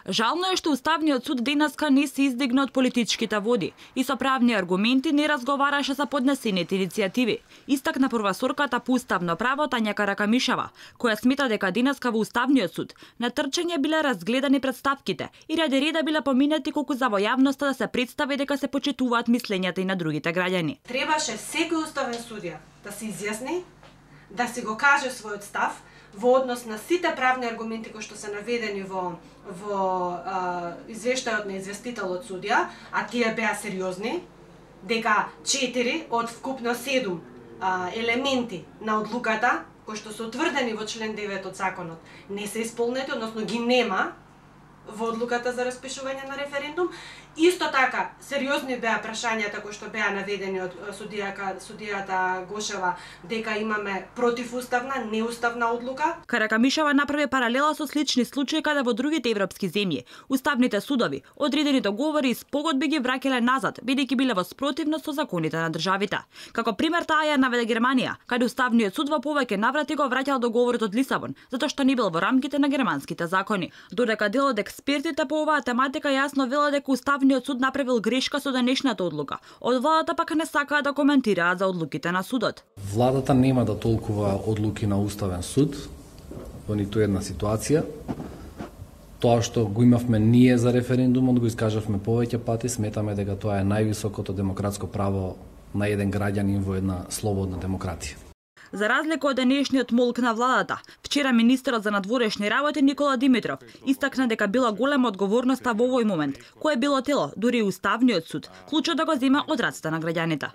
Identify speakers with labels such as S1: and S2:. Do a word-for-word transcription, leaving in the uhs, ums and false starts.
S1: Жално е што Уставниот суд денеска не се издигна од политичките води и со правни аргументи не разговараше за поднесените иницијативи. Истакна професорката по уставно право Тања Каракамишева, која смета дека денеска во Уставниот суд на трчање биле разгледани претставките и ради реда биле поминати колку за во јавноста да се представи дека се почитуваат мислењата и на другите граѓани.
S2: Требаше секој уставен судија да се изјасни, да си го каже својот став во однос на сите правни аргументи кои што се наведени во во а, извештајот на известителот судија, а тие беа сериозни, дека четири од вкупно седум а, елементи на одлуката кои што се утврдени во член девет од законот не се исполнети, односно ги нема во одлуката за распишување на референдум. Исто така, сериозни беа прашањата кои што беа наведени од судијака, судијата Гошева дека имаме противуставна, неуставна одлука.
S1: Каракамишева направи паралела со слични случаи каде во другите европски земји уставните судови одредени договори и спогодби ги враќале назад, бидејќи биле во спротивност со законите на државите. Како пример таа ја наведе Германија, каде Уставниот суд во повеќе наврати го враќал договорот од Лисабон, затоа што не бил во рамките на германските закони. Додека дел од експертите по оваа тематика јасно велат дека Уставниот суд направил грешка со денешната одлука. Од владата пак не сакаат да коментираат за одлуките на судот.
S3: Владата нема да толкува одлуки на Уставен суд во ниту една ситуација. Тоа што го имавме ние за референдумот го искажавме повеќе пати, сметаме дека тоа е највисокото демократско право на еден граѓанин во една слободна демократија.
S1: За разлика од денешниот молк на владата, вчера министерот за надворешни работи Никола Димитров истакна дека била голема одговорноста во овој момент, кое било тело, дури и Уставниот суд, клучот да го зема од рацете на граѓаните.